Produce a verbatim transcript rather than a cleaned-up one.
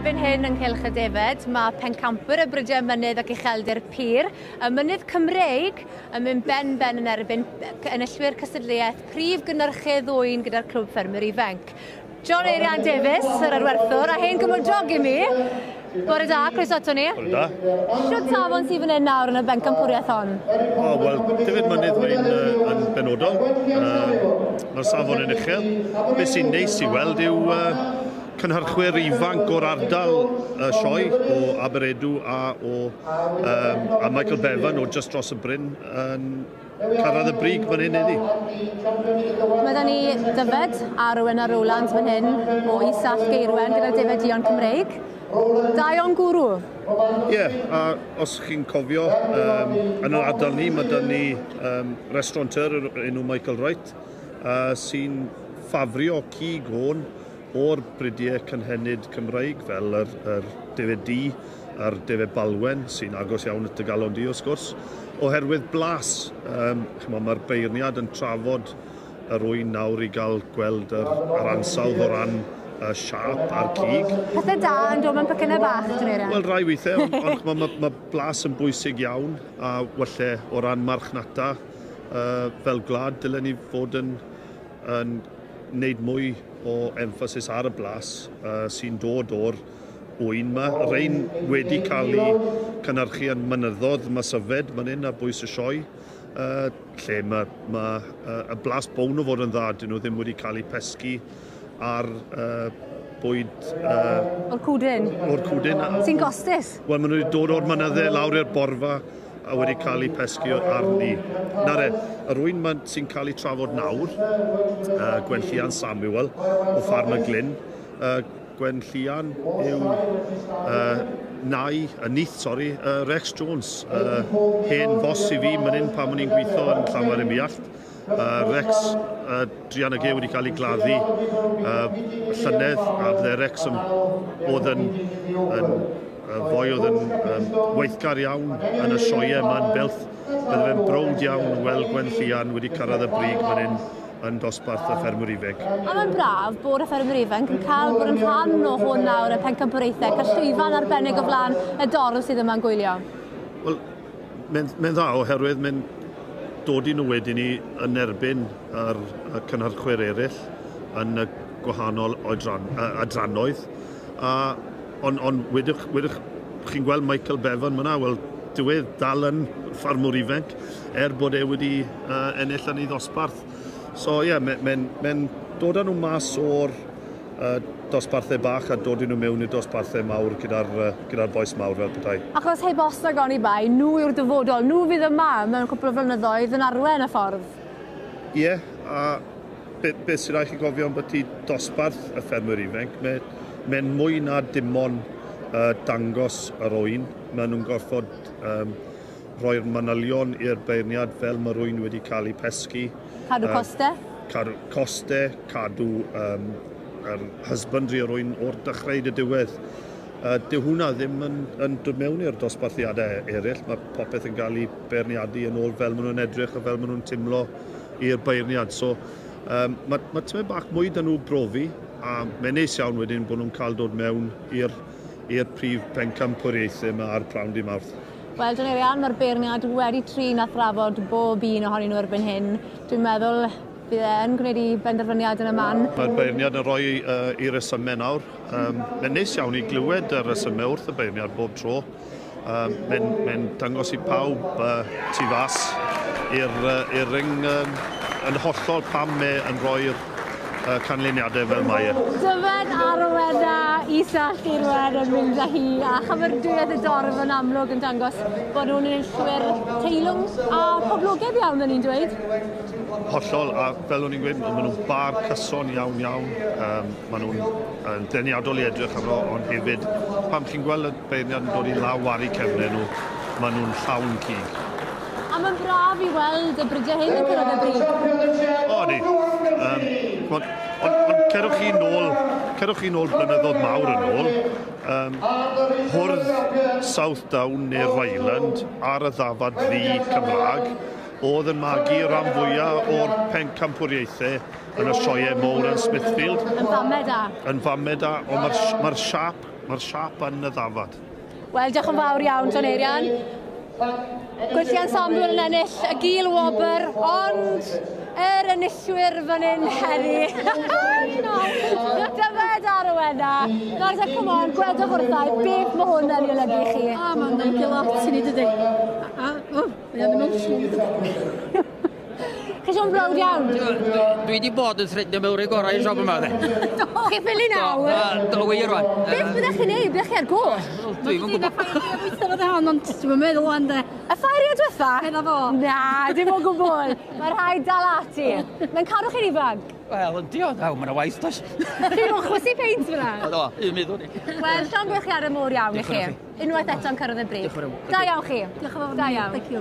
Erbyn hyn yng nghylch y defed, mae pencampwyr y brydiau mynydd ac ucheldir pur, y mynydd Cymreig yn mynd ben-ben yn erbyn enillwyr cystadleuaeth prif gynhyrchydd ŵyn gyda'r Clwb Ffermwyr Ifanc. John Eirian Davies, yr arwerthwr, a hen gymydog i mi. Bore da, croeso ato ni. Bore da. Shwt safon sydd fan hyn nawr yn y bencampwriaeth hon? O, wel, defed mynydd mae'n uh, yn benodol. Uh, Mae'r safon yn uchel. Be sy'n neis i weld yw uh, cynhyrchwyr ifanc o'r ardal uh, sioe o Aberedw a, o, um, a Michael Bevan o just dros y bryn yn cyrraedd y brig fan hyn heddi. Mae da ni Dyfed a Rowena Rowlands fan hyn o Isall Geirwen gyda'r Defed Duon Cymreig. Da iawn gwrw. Ie, yeah, a os chi'n cofio, um, yn yr ardal ni, mae da ni um, restaurateur enw Michael Wright, uh, sy'n ffafrio cig oen o'r bridiau cynhenid Cymreig, fel yr, yr defed du a'r defed balwen, sy'n agos iawn at y galon di, wrth gwrs, oherwydd blas. Um, Mae'r beirniad yn trafod yr ŵyn nawr i gael gweld yr, yr ansawdd o ran y siâp a'r cig. Pethau da yn dod mewn pecynnau bach, dwi'n meddwl. Wel, rai weithiau, ond, ond mae ma, ma blas yn bwysig iawn, a walle o ran marchnata, uh, fel gwlad, dylen ni fod yn, yn wneud mwy o emphasis ar y blas uh, sy'n dod o'r ŵyn yma. Rhain wedi cael eu cynhyrchu yn mynyddodd Masyfed, man hyn, ar bwys y sioe, uh, lle mae ma, uh, y blas bown o fod yn dda, dyn nhw ddim wedi cael eu pesgu ar uh, bwyd... Uh, o'r cwdyn. O'r cwdyn. Sy'n gostus? Wel, maen nhw wedi dod o'r mynyddau lawr i'r borfa a wedi cael eu pesgu arni. Nawr e, yr ŵyn sy'n cael ei trafod nawr, uh, Gwenllian Samuel o Ffarm y Glyn. Uh, Gwenllian yw uh, nai, y nith, sori, uh, Rex Jones, uh, hen fos i fi man hyn pan o'n i'n gweithio yn Llanfair-ym-Muallt. Uh, Rex uh, druan ag e wedi cael ei gladdu uh, llynedd, a bydde Rex yn, oedd yn, yn foi oedd yn um, weithgar iawn yn y sioeau yma yn Builth. Bydde fe'n browd iawn weld Gwenllian wedi cyrraedd y brig fan hyn yn dosbarth y ffermwyr ifanc. A mae'n braf bod y ffermwyr ifanc yn cael bod yn rhan o hwn nawr y pencampwriaethau, cael llwyfan arbennig o flaen y dorf sydd yma'n gwylio. Wel, mae'n mae dda oherwydd mae'n dod i nhw wedyn ni yn erbyn yr, y cynhyrchwyr eraill yn y gwahanol oedran, adranoedd. A, ond on, wedwch, wedwch chi'n gweld Michael Bevan myna, wel, dyw e dal yn ffarmwr ifanc, er bod e wedi uh, ennill yn ei ddosbarth. So ie, yeah, mae'n mae, mae dod â nhw mas o'r uh, dosbarthau bach a dod i nhw mewn i'r dosbarthau mawr gyda'r uh, gyda bois mawr fel petai. Achos heb os nag oni bai, nhw yw'r dyfodol, nhw fydd yma mewn cwpl o flynyddoedd yn arwen y ffordd. Ie, yeah, a be, be sy'n rhaid chi gofio ambyti dosbarth y ffermwyr ifanc, mae'n mae mwy na dim ond uh, dangos yr ŵyn. Maen nhw'n gorfod um, rhoi'r manylion i'r beirniad fel mae'r ŵyn wedi cael ei pesgu. Cadw costau? Uh, cadw costau, cadw um, yr husbandry o'r ŵyn o'r dechrau i'r diwedd. Uh, dyw hwnna ddim yn, yn dod mewn i'r dosbarthiadau eraill. Mae popeth yn cael ei beirniadu yn ôl fel maen nhw'n edrych a fel maen nhw'n timlo i'r beirniad. So, um, mae, mae tymed bach mwy da nhw brofi, a mae'n neis iawn wedyn bod nhw'n cael dod mewn i'r i'r prif pencampwriaethau yma ar Prawn Dydd Mawrth. Wel, John Eirian, mae'r beirniad wedi trin a thrafod bob un ohonyn nhw erbyn hyn. Dwi'n meddwl bydd e'n gwneud i benderfyniad yn y man. Mae'r beirniad yn rhoi uh, i resymau nawr. Um, mae'n neis iawn i glywed y resymau wrth y beirniad bob tro. Um, mae'n mae dangos i pawb uh, tu fas i'r uh, ring um, yn hollol pam mae yn rhoi'r uh, canlyniadau fel mae e. Dyfed a Rowena Isall Geirwen yn mynd â hi, a chymeradwyaeth y dorf yn amlwg yn dangos bod nhw'n enillwyr teilwng a poblogaidd iawn, yn ni'n dweud. Hollol, a fel o'n i'n gweud, maen nhw'n bar cyson iawn iawn, um, maen nhw'n deniadol i edrych arno, ond hefyd, pan chi'n gweld y beirniad yn dod i law ar eu cefnau nhw, maen nhw'n llawn cig. A mae'n braf i weld y brydiau hyn yn cyrraedd y brig. O, di. Um, ond on, on cerwch chi nôl, cerwch chi nôl blynyddoedd mawr yn ôl, um, hwrdd South Down neu Ryland ar y ddafad ddu Cymraeg, oedd yn magu rhan fwyaf o'r pencampwriaethau yn y sioeau mowr yn Smithfield. Yn famau da. Yn famau da, ond mae'r ma siâp Mae'r siap yn y ddafad. Wel, diolch yn fawr iawn, John Eirian. Gwenllian Samuel yn ennill y gil wobr, ond yr enillwyr fan hyn heddi. Dyfed ar y wena. Nawr te, come on, gwedwch wrtha i beth mae hwn yn ei olygu i chi. O, mae'n olygu lot i ni, dydy. A, o, mae'n emotional. Chi eisiau browd iawn? Dwi wedi bod yn threadio mewn i'r gorau i siop yma, de. Chi ffili nawr? Do, wir rwan. Beth byddech chi'n neud? Byddech chi ar goll? Dwi'm yn gwybod. Weithio fod hon, ond dwi'm yn meddwl wan, de. Y ffair diwetha? Medda fo. Na, dim o gwbl. Mae rhaid dal ati. Mae'n cadw chi'n ifanc. Wel, yndi o, daw, mae'n waith, does. Chi'n mwyn chwysu peint fyna? Do, un meddwl ni. Wel, llongyfarchiadau mowr iawn i chi. Unwaith eto'n cyrraedd y brig. Da iawn chi. Diolch yn fawr. Da iawn. Thank you.